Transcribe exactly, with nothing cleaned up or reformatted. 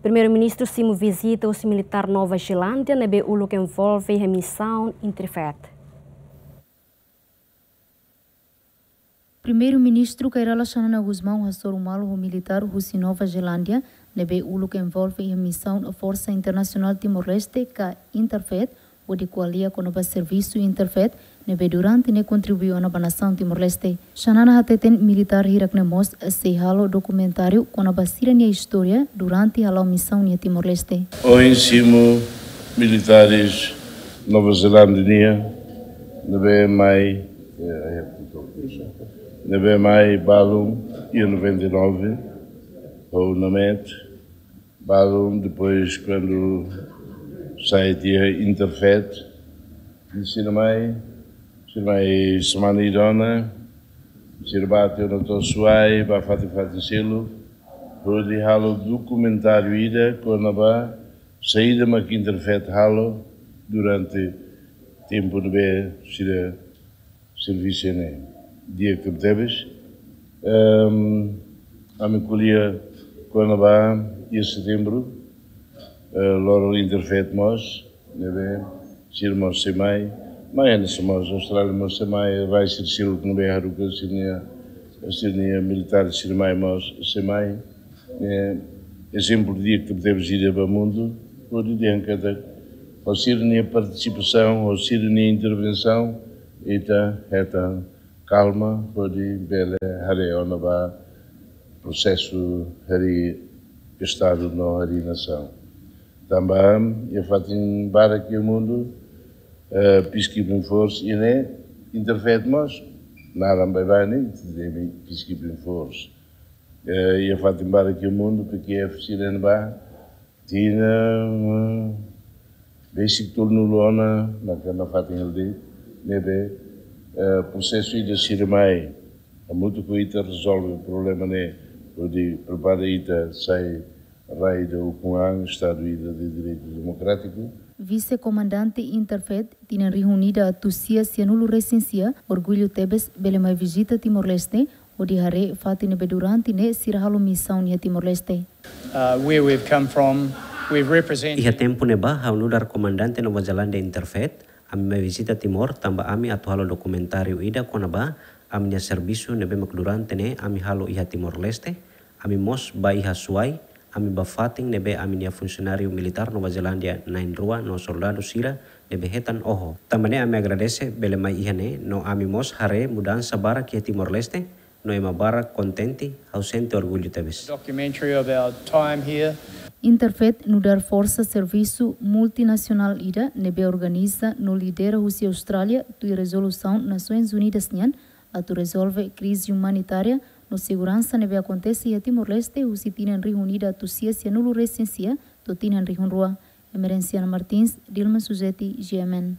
Primeiru-Ministru simu vizita husi militár Nova Zelándia ne'ebé uluk envolve iha misaun INTERFET. Primeiru-Ministru Kay Rala Xanana Gusmão hasoru malu ho militár husi Nova Zelándia ne'ebé uluk envolve iha misaun Forsa Internasionál Timor-Leste ka INTERFET, hodi ko'alia kona-ba servisu INTERFET ne'ebé durante ne'e kontribui ona ba nasaun Timor-Leste. Xanana hateten militár hirak-ne'e mós sei halo dokumentáriu kona-ba sira-nia istória durante hala'o misaun iha Timor-Leste. Ohin simu militárius Nova Zelándia nian ne'ebé mai, eh, ne'ebé mai balun iha noventa e nove, ho UNAMET, balun, depois kuandu sai tiha INTERFET, sira mai, sira mai semana ida ona, sira bá tiha ona to'o Suai, bá fatin-fatin seluk, hodi halo dokumentáriu ida kona-ba saida mak INTERFET halo durante tempu ne'ebé sira servisu ne'e. Di'ak tebes. Ehm, ami ko'alia kona-ba iha setembru, eh, loron INTERFET mós, ne'ebé sira mós sei mai, mai hanesan mós Austrália mós sei mai, rai sira seluk ne'ebé haruka sira-nia, sira-nia militár sira mai mós sei mai. Eh, ezemplu di'ak tebes ida ba mundu, hodi dehan katak ho sira-nia partisipasaun, ho sira-nia intervensaun, ita hetan kalma, hodi bele haree ona ba prosesu harii Estadu no harii nasaun. Tanba iha fatin barak iha mundu, eh, peacekeeping force iha ne'e, INTERFET mós, naran baibain ne'e, ita temi peacekeeping force. Eh, iha fatin barak iha mundu, P K F sira-ne'e bá, tinan, eh, besik tolunulu ona, maka nafatin hela de'it, ne'ebé, eh, prosesu ida sira mai, hamutuk ho ita rezolve problema ne'e, hodi prepara ita sai rai ida ukun an, Estadu ida de direitu demokrátiku. Vise-komandante INTERFET, tinan rihun ida atus sia sianulu resin sia, orgullu tebes bele mai vizita Timor-Leste, hodi haree fatin ne'ebé durante ne'e sira halo misaun iha Timor-Leste. Uh, where we've come from, we've represented. Iha tempu ne'ebá, ha'u nu'udar komandante Nova Zelándia INTERFET, ami mai vizita Timor, tanba ami atu halo dokumentáriu ida kona-ba ami-nia servisu ne'ebé mak durante ne'e ami halo iha Timor-Leste, ami mós bá iha Suai, ami bá fatin ne'ebé ami-nia funsionáriu militár Nova Zelándia na'in-rua no soldadu sira ne'ebé hetan oho. Tanba ne'e ami agradese bele mai iha ne'e, no ami mós haree mudansa barak iha Timor-Leste, no ema barak kontente, ha'u sente orgullu tebes. Documentary of our time here. INTERFET nu'udar forsa servisu multinasionál ida ne'ebé organiza no lidera husi Austrália, tuir rezolusaun Nasoins Unidas nian, atu rezolve krize umanitária no seguransa ne'ebé akontese iha Timor-Leste husi tinan rihun ida atus sia sianulu resin sia to'o tinan rihun rua. Emerenciana Martins, Dilma Suzeti, G M N.